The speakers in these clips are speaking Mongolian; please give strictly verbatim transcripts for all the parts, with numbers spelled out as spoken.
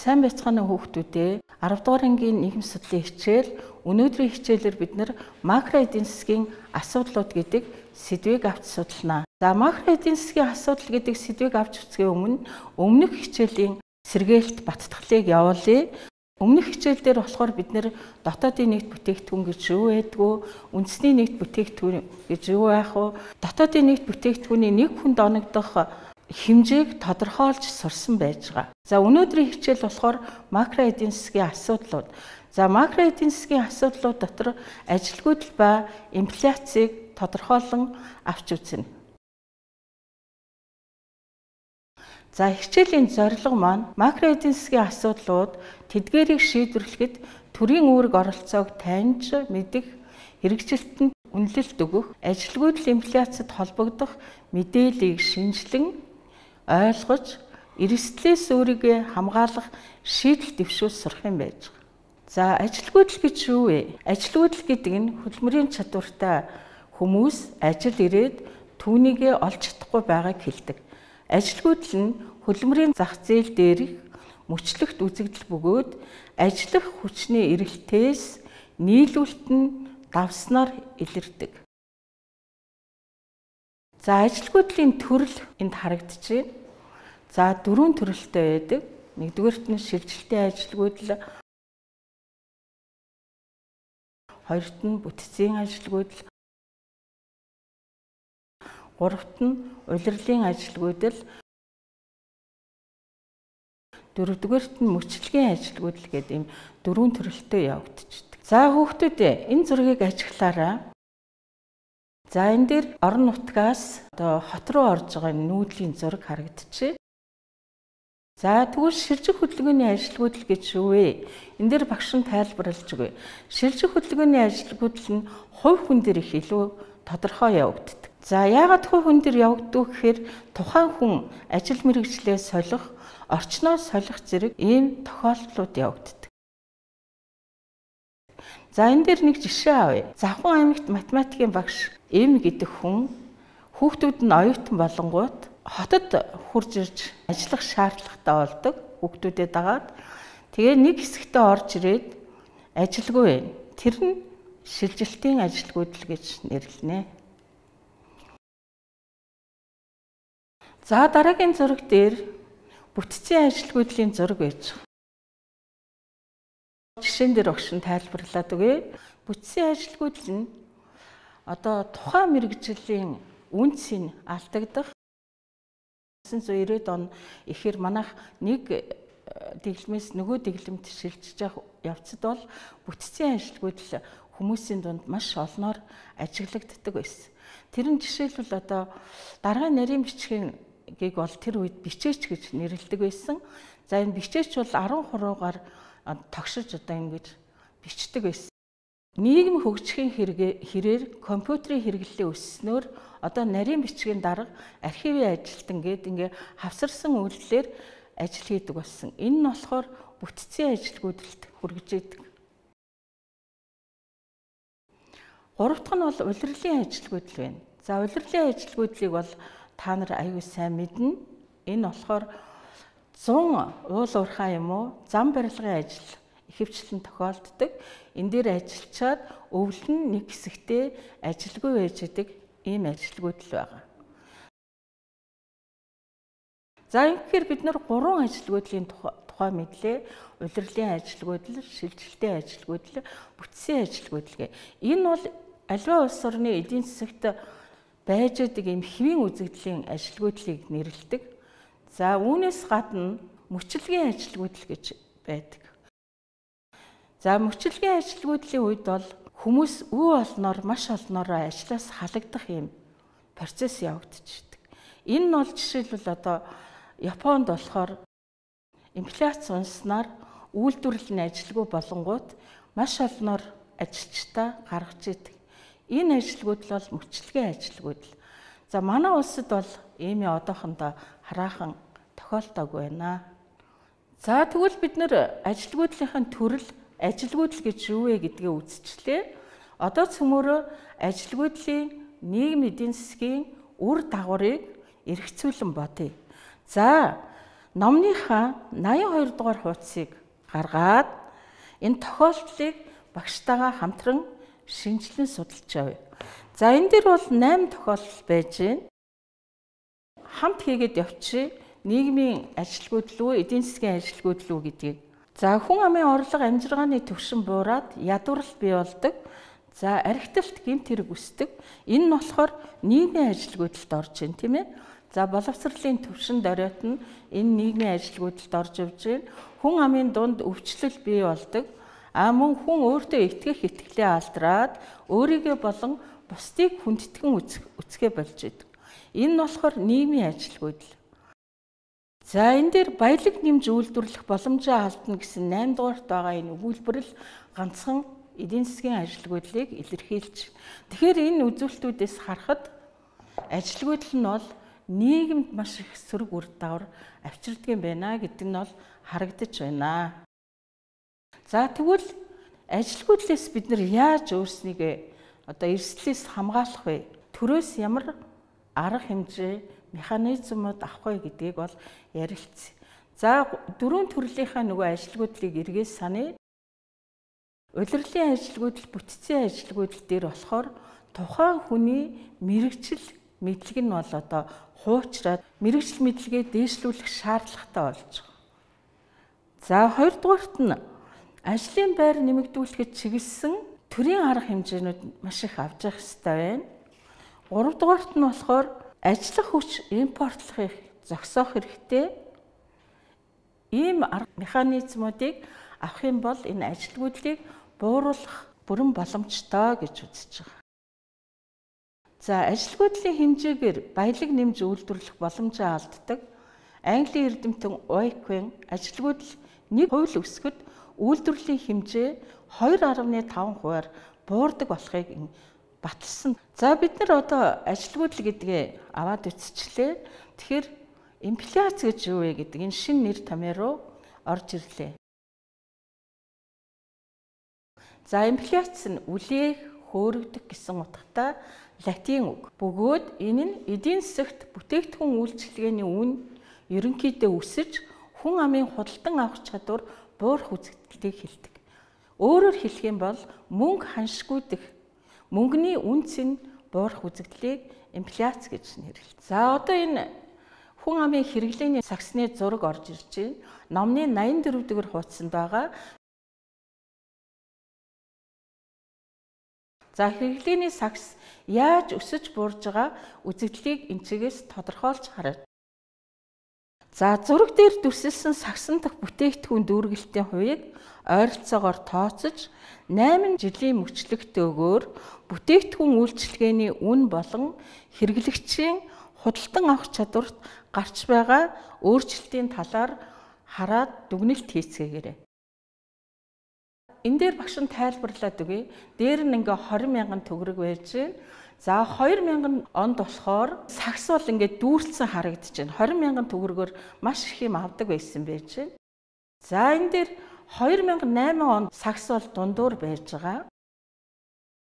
Сайн байцгаана уу хүүхдүүдээ. арав дугаар ангийн нийгэм судлалын хичээл өнөөдрийн хичээлээр бид нар макро эдийн засгийн асуудлууд гэдэг сэдвийг авч судалнаа. За макро эдийн засгийн асуудал гэдэг сэдвийг авч үзэхийн өмнө өмнөх хичээлийн сэргээлт баттгалыг явуулъя. Өмнөх хичээлдэр болохоор бид нэр дотоодын нийт бүтээгдэхүүн гэж юу байдгүй, үндэсний нийт бүтээгдэхүүн гэж юу байх вэ? Дотоодын нийт бүтээгдэхүүний нэг хүнд оногдох хэмжээг тодорхойлж сурсан байж байгаа. За өнөөдрийн хичээл болохоор макро эдийн засгийн асуудлууд. За макро эдийн засгийн асуудлууд дотор ажилгүйдэл ба инфляцийг тодорхойлон авч үзнэ. За хичээлийн зорилго маань макро эдийн засгийн асуудлууд тэдгээрийг шийдвэрлэхэд төрийн үүрэг оролцоог таньж мэдэх, хэрэгжилтэнд үнэлэлт өгөх, ажилгүйдэл инфляцид холбогдох мэдээллийг шинжилэн ойлгож, эрсдлээс өөрийгөө хамгаалах шийдэл дэвшүүлж сурах юм байж байгаа. За ажилгүйдэл гэж юу вэ? Ажилгүйдэл гэдэг нь хөдөлмөрийн чадвартай хүмүүс ажил ирээд түүнийгээ олж чадахгүй байгааг хэлдэг. Ажилгүйдэл нь хөдөлмөрийн зах зээл дээрх мөчлөгт үзэгдэл бөгөөд ажиллах хүчний эрэлтээс нийлүүлэлт нь давснаар илэрдэг. За ажилгүйдлийн төрөл энд харагдаж байна. За дөрвөн төрөлтэй байдаг. Нэгдүгээрт нь шилжилтийн ажилгүйдэл, хоёрт нь бүтцийн ажилгүйдэл, гуравт нь улирлын ажилгүйдэл, дөрөвдүгээрт нь мөчлөгийн ажилгүйдэл гэдэг ийм дөрвөн төрөлтэй явагдчихдаг. За хүүхдүүдээ энэ зургийг ажиглаарай. За энэ дээр орон нутгаас одоо хот руу орж байгаа нүүдлийн зураг харагдчихэ. За тэгвэл шилжих хөдөлгөөний ажилгүйдэл гэж юу вэ? Энэ дээр багш нь тайлбарлаж өгье. Шилжих хөдөлгөөний ажилгүйдэл нь хувь хүн дээр их илүү тодорхой явагддаг. За яагаад хувь хүн дээр явагддаг гэхээр тухайн хүн ажил мэргэжлээ солих, орчноо солих зэрэг ийм тохиолдлууд явагддаг. За энэ дээр нэг жишээ авъя. Завхан аймагт математикийн багш Эм гэдэг хүн хүүхдүүд нь оюутан болонгууд хотод хурж ирж ажиллах шаардлагатай болдог. Хүүхдүүдэд дагаад тэгээ нэг хэсэгтээ орж ирээд ажилгүй байна. Тэр нь шилжилтийн ажилгүйдэл гэж нэрлэнэ. За дараагийн зураг дээр бүтцийн ажилгүйдлийн зураг байж байгаа. Жишээн дээр огшин тайлбарлаад өгье. Бүтцийн ажилгүйдэл нь одоо тухайн мэргэжлийн үнцийг алдагдах найман зуун ирээд он ихээр манайх нэг дэглэмээс нөгөө дэглэмд шилжиж явах явцад бол бүтцийн ажилгүйдэл хүмүүсийн дунд маш олноор ажиглагддаг байсан. Тэр нь жишээлбэл одоо дараагийн нарийн бичгийг бол тэр үед бичээч гэж нэрлэдэг байсан. За энэ бичээч бол арван хуруугаар тогшиж одоо ингэж бичдэг байсан. Нийгэм хөгжихийн хэрээр компьютерийн хэрэглээ өсснөөр одоо нарийн бичгийн дарга архивын ажилтан гээд ингээ хавсарсан үйлдэлээр ажил хийдэг болсон. Энэ нь болохоор бүтцийн ажилгүйдэлд хүргэж идэг. Гурав дахь нь бол улирлын ажилгүйдэл байна. За улирлын ажилгүйдлийг бол та нар аюул сайн мэднэ. Энэ болохоор зун уул уурхай юм уу зам барилгын ажил ихэвчлэн тохиолддог. Энэ дээр ажиллачаад өвөл нь нэг хэсэгтээ ажилгүй байж идэг ийм ажилгүйдэл байгаа. За ингэхээр бид нар гурван ажилгүйдлийн тухай мэдлээ. Улирлын ажилгүйдэл, шилжилтийн ажилгүйдэл, бүтцийн ажилгүйдэл. Энэ бол аливаа улс орны эдийн засагт байж идэг ийм хэвийн үзэгдлийн ажилгүйдлийг нэрлэдэг. За үүнээс гадна мөчлөгийн ажилгүйдэл гэж байдаг. За мөчлөгийн ажилгүйдлийн үед бол хүмүүс өв олноор маш олноороо ажлаас халагдах юм процесс явагдчихдаг. Энэ нь бол жишээлбэл одоо Японд болохоор инфляц унснаар үйлдвэрлэл нь ажилгүй болонгууд маш олноор ажилчдаа гаргаж идэг. Энэ ажилгүйдэл бол мөчлөгийн ажилгүйдэл. За манай улсад бол ийм одоохондоо хараахан тохиолдоогүй байна. За тэгвэл бид нэр ажилгүйдлийнхэн төрөл ажилгүйдэл гэж юу вэ гэдгээ үзчихлээ. Одоо цөмөөрөө ажилгүйдлийн нийгэм эдийн засгийн үр дагаврыг эргэцүүлэн бодъё. За номныхаа наян хоёр дугаар хуудсыг гаргаад энэ тохиолдлыг багштайгаа хамтран шинжилэн судалж явъя. За энэ дээр бол найман тохиолдол байж байна. Хамт хийгээд явчих нийгмийн ажилгүйдэл үү, эдийн засгийн ажилгүйдэл үү гэдгийг. За хүн амын орлого амжиргааны түвшин буураад ядварл бий болдог. За архиталт гэмт хэрэг үүсдэг. Энэ нь болохоор нийгмийн ажилгүйдэлд орж ийн, тийм ээ. За боловсролын түвшин дороот нь энэ нийгмийн ажилгүйдэлд орж явж байна. Хүн амын дунд өвчлөл бий болдог. А мөн хүн өөртөө итгэх итгэлээ алдраад өөрийгөө болон бусдыг хүндэтгэн үзэхэ болж идэг. Энэ нь болохоор нийгмийн ажилгүйдэл. За энэ дээр баялаг нэмж үйлдвэрлэх боломжоо алдна гэсэн найман дугаарт байгаа энэ өгүүлбэр л ганцхан эдийн засгийн ажилгүйдлийг илэрхийлж. Тэгэхээр энэ үзүүлэлтүүдээс харахад ажилгүйдэл нь бол нийгэмд маш их сөрөг үр дагавар авчирдаг юм байна гэдэг нь бол харагдаж байна. За тэгвэл ажилгүйдлээс бид нар яаж өөрснийгөө одоо эрсдлээс хамгаалах вэ? Төрөөс ямар арга хэмжээ, механизмууд авах вэ гэдгийг бол ярилцъя. За дөрвөн төрлийнхаа нөгөө ажилгүйдлийг эргээс саная. Улирлын ажилгүйдэл, бүтцийн ажилгүйдэл дээр болохоор тухайн хүний мэрэгжил мэдлэг нь бол одоо хуучраад мэрэгжил мэдлэгээ дээшлүүлэх шаардлагатай болж байгаа. За хоёрдугаарт нь ажлын байр нэмэгдүүлэхэд чиглэсэн төрийн арга хэмжээнүүд маш их авч явах хэрэгтэй байна. Гуравдугаарт нь болохоор ажиллах хүч импортлохыг зогсоох хэрэгтэй. Ийм арга механизмуудыг авах юм бол энэ ажилгүйдлийг бууруулах бүрэн боломжтой гэж үзэж байгаа. За ажилгүйдлийн хэмжээгээр баялаг нэмж үйлдвэрлэх боломжоо алддаг. Английн эрдэмтэн Ойквен ажилгүйдэл нэг хувь өсгөхөд үйлдвэрлэлийн хэмжээ хоёр гаруй таван хувиар буурдаг болохыг баталсан. За бид нар одоо ажилгүйдэл гэдгээ аваад үтсчлээ. Тэгэхээр инфляц гэж юу вэ гэдэг энэ шинэ нэр томьёо руу орж ирлээ. За инфляц нь үлээх, хөөрөгдөх гэсэн утгатай латин үг. Бөгөөд энэ нь эдийн засагт бүтээгдэхүүн үйлчилгээний үн ерөнхийдөө өсөж хүн амын худалдан авах чадвар буурах үзэгдлийг хэлдэг. Өөрөөр хэлэх юм бол мөнгө ханшгүйдэх, мөнгөний үнц нь буурах үзэгдлийг инфляц гэж нэрлэдэг. За одоо энэ хүн амын хэрэглээний сагсны зураг орж ирж байна. Номны найман дөрөв дугаар хуудсанд байгаа. За хэрэглээний сагс яаж өсөж буурж байгаа үзэгдлийг энэчгээс тодорхойлж харъя. За зураг дээр дүрсэлсэн сагсан дахь бүтээгдэхүүн дүүргэлтийн хувийг ойролцоогоор тооцож найман жилийн мөчлөгтөөгөөр бүтээгдэхүүн үйлчилгээний үн болон хэрэглэгчийн худалдан авах чадварт гарч байгаа өөрчлөлтийн талаар хараад дүгнэлт хийцгээгээрэй. Энэ дээр багш нь тайлбарлаад өгье. Дээр нь ингээ двадцать мянган төгрөг байж байна. За хоёр мянган онд болохоор сагс бол ингээ дүүрэлсэн харагдаж байна. двадцать мянган төгрөгөөр маш их юм авдаг байсан байж байна. За энэ дээр две тысячи восемь онд сагс бол дундуур байж байгаа.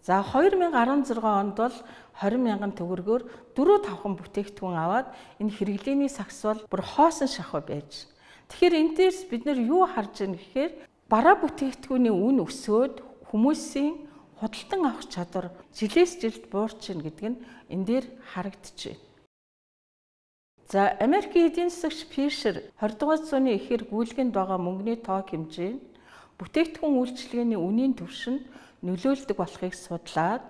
За две тысячи шестнадцать онд бол двадцать мянган төгрөгөөр дөрөв тавхан бүтээгдэхүүн аваад энэ хэрэглээний сагс бол бүр хоосон шахуу байж. Тэгэхээр энэ дээрс бид нар юу харж байна гэхээр бараа бүтээгдэхүүний үн өсөөд хүмүүсийн худалдан авах чадвар жилээс жилд буурч ийн гэдэг нь энэ дээр харагдаж байна. За Америкийн эдийн засагч Фишер двадцать дугаар зууны эхээр гүйлгэнд байгаа мөнгөний тоо хэмжээ нь бүтээгдэхүүн үйлчилгээний үнийн түвшинд нөлөөлдөг болохыг судлаад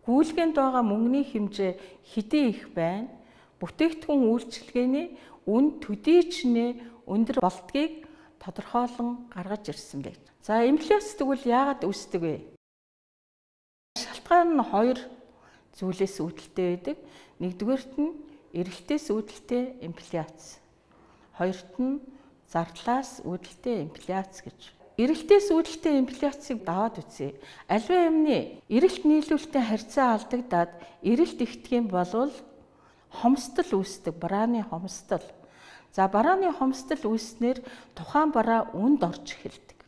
гүйлгэнд байгаа мөнгөний хэмжээ хэдий их байна, бүтээгдэхүүн үйлчилгээний үн төдий чинээ өндөр болдгийг тодорхойлон гаргаж ирсэн байна. За инфляц тэгвэл яагаад үүсдэг вэ? Шалтгаан нь хоёр зүйлээс үүдэлтэй байдаг. Нэгдүгээрт нь эрэлтээс үүдэлтэй инфляц. Хоёрт нь зардлаас үүдэлтэй инфляц гэж. Эрэлтээс үүдэлтэй инфляцийг даваад үзье. Аливаа юмны эрэлт нийлүүлэлтийн харьцаа алдагдаад эрэлт ихтгэх юм бол хомсдол үүсдэг, барааны хомсдол. За барааны хомсдол үүснээр тухайн бараа үнд орж эхэлдэг.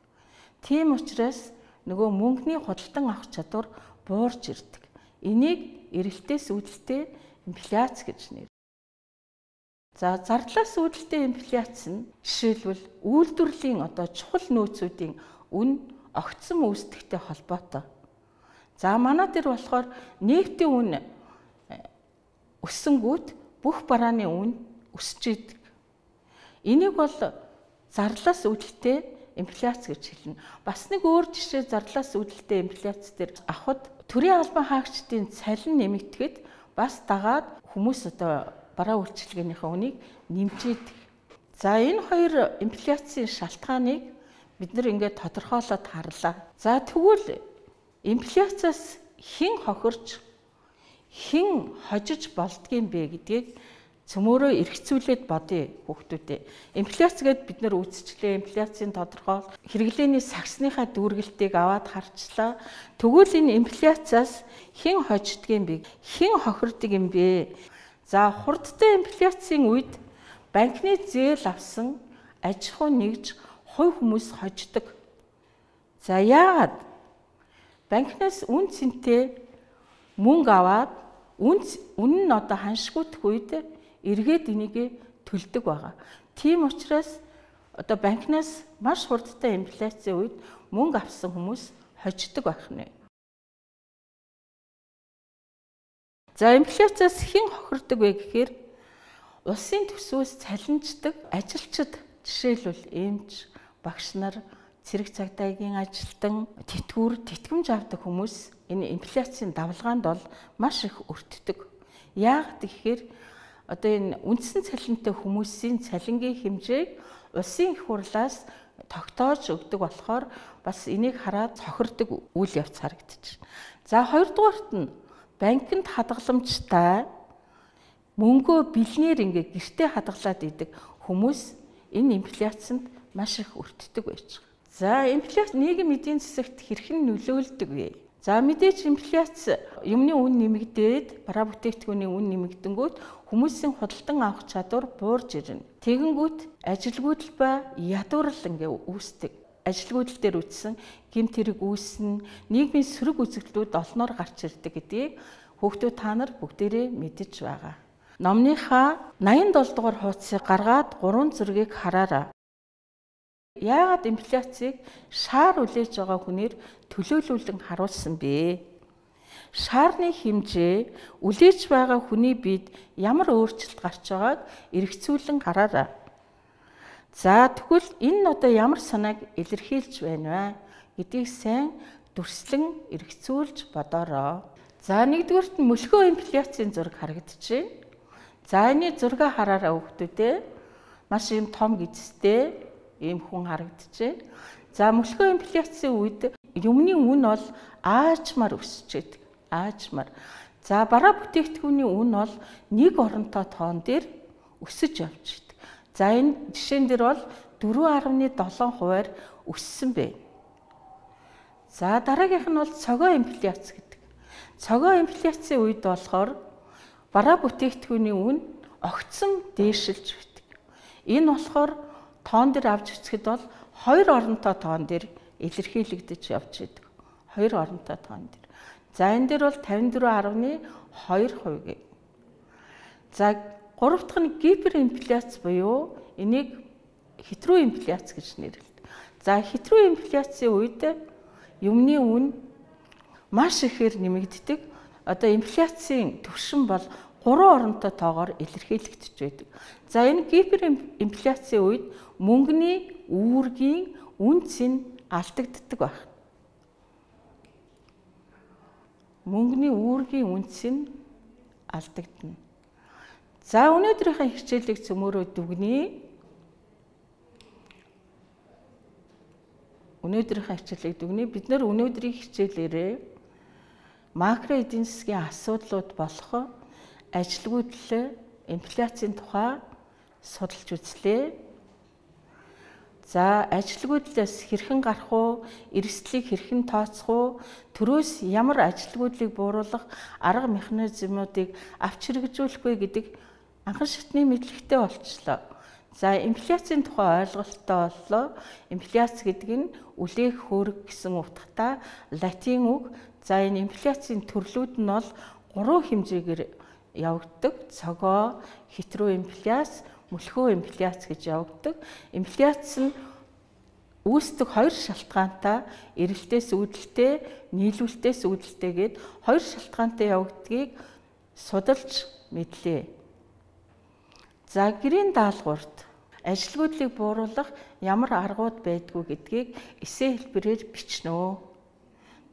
Тийм учраас нөгөө мөнгөний худалдан авах чадвар буурж ирдэг. Энийг эрэлтээс үүдэлтэй инфляц гэж нэрлэдэг. За зардлаас үүдэлтэй инфляц нь жишээлбэл үйлдвэрлэлийн одоо чухал нөөцүүдийн үн огцом үүсдэхтэй холбоотой. За манай дээр болохоор нефтийн үн өссөнгүүт бүх барааны үн өсөж идэг. Энийг бол зарлаас үүдэлтэй инфляц гэж хэлнэ. Бас нэг өөр жишээ зарлаас үүдэлтэй инфляц дээр авахд төрийн албан хаагчдын цалин нэмэгдэхэд бас дагаад хүмүүс одоо бараа үйлчилгээнийхээ үнийг нэмжээдэг. За энэ хоёр инфляцийн шалтгааныг бид нэр ингээд тодорхойлоод харлаа. За тэгвэл инфляцаас хэн хохирч хэн хожиж болдгийм бэ гэдгийг цөмөөрөө эргцүүлээд бодъё хүүхдүүдээ. Инфляц гэд бид нар үзчихлээ. Инфляцийн тодорхойл хэрэглээний сагсныхаа дүүргэлтийг аваад харчлаа. Тэгвэл энэ инфляцаас хэн хождгийм бэ? Хэн хохирдог юм бэ? За хурдтай инфляцийн үед банкны зээл авсан аж ахуй нэгж хувь хүмүүс хождог. За яагаад? Банкнаас үн цэнтэй мөнгө аваад үн үнэн нь одоо ханшгуудах үед эргээд энийг төлдөг байгаа. Тийм учраас одоо банкнаас маш хурдтай инфляцийн үед мөнгө авсан хүмүүс хождог байх нэ. За инфляцаас хэн хохирдог вэ гэхээр улсын төсвөөс цалинждаг ажилчид, жишээлбэл эмч, багш нар, цэрэг цагдаагийн ажилтан, тэтгэвэр, тэтгэмж авдаг хүмүүс энэ инфляцийн давлгаанд бол маш их өртдөг. Яагаад гэхээр одоо энэ үндсэн цалинтай хүмүүсийн цалингийн хэмжээг улсын их хурлаас тогтоож өгдөг болохоор бас энийг хараад цохирдог үйл явц харагдчих. За хоёрдугаарт нь банкнд хадгаламжтай мөнгөө бэлнээр ингээ гэртээ хадгалаад идэг хүмүүс энэ инфляцид маш их өртдөг байж байгаа. За инфляц нийгэм эдийн засагт хэрхэн нөлөөлдөг вэ? За мэдээж инфляц юмны үн нэмэгдээд бараа бүтээгдэхүүний үн нэмэгдэнгүүт хүмүүсийн худалдан авах чадвар буурж ирнэ. Тэгэнгүүт ажилгүйдэл ба ядуурл ингээ үүсдэг. Ажилгүйдэл дээр үтсэн гэмт хэрэг үүснэ, нийгмийн сөрөг үзэгдлүүд олноор гарч ирдэг гэдгийг хүүхдүүд та нар бүгдээрээ мэдэж байгаа. Номныхаа найман долоо дугаар хуудсыг гаргаад гурван зургийг хараарай. Яагаад инфляцийг шаар үлээж байгаа хүнээр төлөөлүүлэн харуулсан бэ? Шаарны хэмжээ үлээж байгаа хүний биед ямар өөрчлөлт гарч байгааг эргцүүлэн хараарай. За тэгвэл энэ нь одоо ямар санааг илэрхийлж байна вэ гэдгийг сайн дүрслэн эргцүүлж бодоорой. За нэгдүгээрт нь мөлхөө инфляцийн зураг харагдчихэв. За энэ зургийг хараарай хүүхдүүдээ. Маш юм том гизтэй ийм хүн харагдчихэв. За мөлхөө инфляцийн үед юмны үн бол аажмаар өсөж идэг. Аажмаар. За бараа бүтээгдэхүүний үн бол нэг оронтой тоон дээр өсөж явж идэг. За энэ жишээн дээр бол дөрвөн арван долоо хувиар өссөн бэ. За дараагийнх нь бол цогоо инфляц гэдэг. Цогоо инфляцийн үед болохоор бараа бүтээгдэхүүний үн огцом дээшилж байдаг. Энэ болохоор тоон дээр авч үзэхэд бол хоёр оронтой тоон дээр илэрхийлэгдэж явж идэг. Хоёр оронтой тоон дээр. За энэ дээр бол тавин дөрвөн арван хоёр хувь. За гурав дахь нь гиперинфляц буюу энийг хэтрүү инфляц гэж нэрлэдэг. За хэтрүү инфляцийн үед юмны үн маш ихээр нэмэгддэг. Одоо инфляцийн түвшин бол гурван оронтой тоогоор илэрхийлэгдэж байдаг. За энэ гиперинфляцийн үед мөнгөний үүргийн үнц нь алдагддаг байна. Мөнгөний үүргийн үнц нь алдагдана. За өнөөдрийнхээ хичээлийг цөмөөрөө дүгнэе. Өнөөдрийнхээ хичээлийг дүгнэе. Бид нэр өнөөдрийн хичээлээрээ макро эдийн засгийн асуудлууд болох ажилгүйдэл, инфляцийн тухай судалж үзлээ. За ажилгүйдлээс хэрхэн гарах уу, эрсдлийг хэрхэн тооцох уу, төрөөс ямар ажилгүйдлийг бууруулах арга механизмуудыг авч хэрэгжүүлэх вэ гэдэг анхан шатны мэдлэгтэй болчлоо. За инфляцийн тухай ойлголттой боллоо. Инфляц гэдэг нь үлээх хөөрг гэсэн утгатай латин үг. За энэ инфляцийн төрлүүд нь бол гурван хэмжээгээр явагддаг. Цогоо, хитроинфляц, мөлхөө инфляц гэж явагддаг. Инфляц нь үүсдэг хоёр шалтгаантай эрэлтээс үүдэлтэй, нийлүүлэлтээс үүдэлтэй гээд хоёр шалтгаантай явагдгийг судалж мэдлээ. За гэрийн даалгаварт ажилгүйдлийг бууруулах ямар аргууд байдгүй гэдгийг эссе хэлбэрээр бичнэ.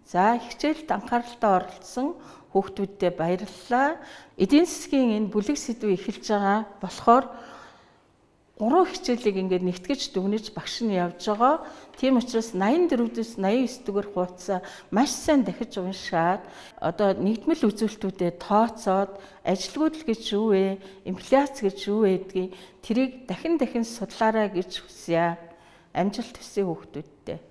За хичээлд анхааралтай оролцсон хүүхдүүддээ баярлалаа. Эдийн засгийн энэ бүлэг сэдвийг эхэлж байгаа болохоор гурван хичээлийг ингээд нэгтгэж дүгнэж багш нь явж байгаа. Тийм учраас найман дөрвөөс найман девс дугаар хуудасаа маш сайн дахиж уншаад одоо нэгдмэл үзүүлэлтүүдэд тооцоод ажилгүйдэл гэж юу вэ? Инфляц гэж юу вэ гэдгийг тэрийг дахин дахин судлаарай гэж хүсье. Амжилт хүсье хүүхдүүдтэй.